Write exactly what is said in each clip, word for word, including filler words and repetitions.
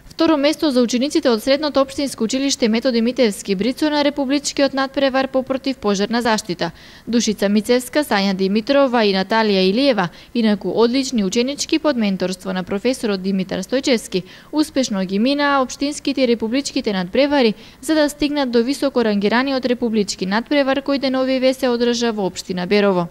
Второ место за учениците од Средното општинско училиште Методи Митевски Брицо на републичкиот надпревар по противпожарна заштита. Душица Мицевска, Сања Димитрова и Наталија Илиева, инаку одлични ученички под менторство на професорот Димитар Стојчевски, успешно ги минаа општинските и републичките надпревари за да стигнат до високо рангираниот републички надпревар кој деновиве се одржа во општина Берово.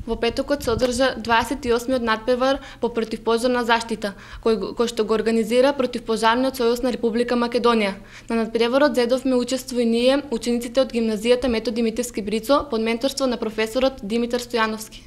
Во петокот се одржа дваесет и осмиот надпревар по противпожарна заштита, кој, кој што го организира Противпожарниот сојуз на Република Македонија. На надпреварот зедовме учество и ние, учениците од гимназијата Методи Митевски Брицо, под менторство на професорот Димитар Стојановски.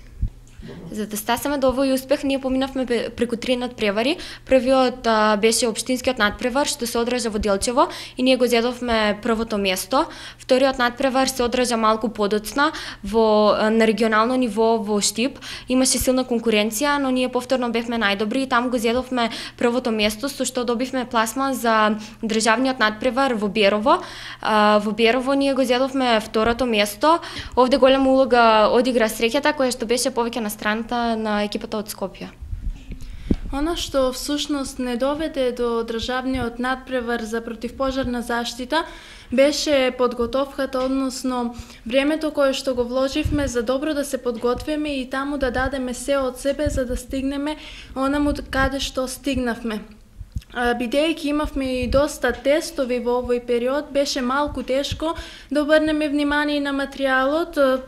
За да стасаме до овој успех, ние поминавме преку три надпревари. Првиот а, беше општинскиот надпревар што се одржа во Делчево и ние го зедовме првото место. Вториот надпревар се одржа малку подоцна во на регионално ниво во Штип. Имаше силна конкуренција, но ние повторно бевме најдобри и таму го зедовме првото место со што добивме пласма за државниот надпревар во Берово. А, во Берово ние го зедовме второто место. Овде голема улога одигра среќата која што беше повеќе на страната на екипата од Скопје. Она што всушност не доведе до државниот надпревар за противпожарна заштита беше подготовката, односно времето кое што го вложивме за добро да се подготвиме и таму да дадеме се од себе за да стигнеме онаму каде што стигнавме. Бидејќи имавме и доста тестови во овој период, беше малку тешко да обрнеме внимание на материјалот.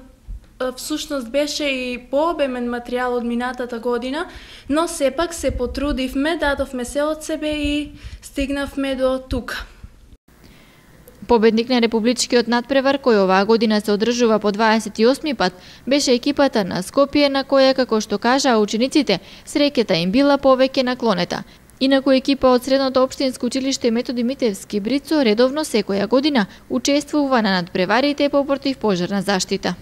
Всушност беше и пообемен материјал од минатата година, но сепак се потрудивме, дадовме се од себе и стигнавме до тука. Победник на републичкиот надпревар кој оваа година се одржува по дваесет и осми пат беше екипата на Скопје, на која, како што кажаа учениците, среќата им била повеќе наклонета. Инаку екипа од Средното општинско училиште Методи Митевски Брицо редовно секоја година учествува на надпреварите по противпожарна заштита.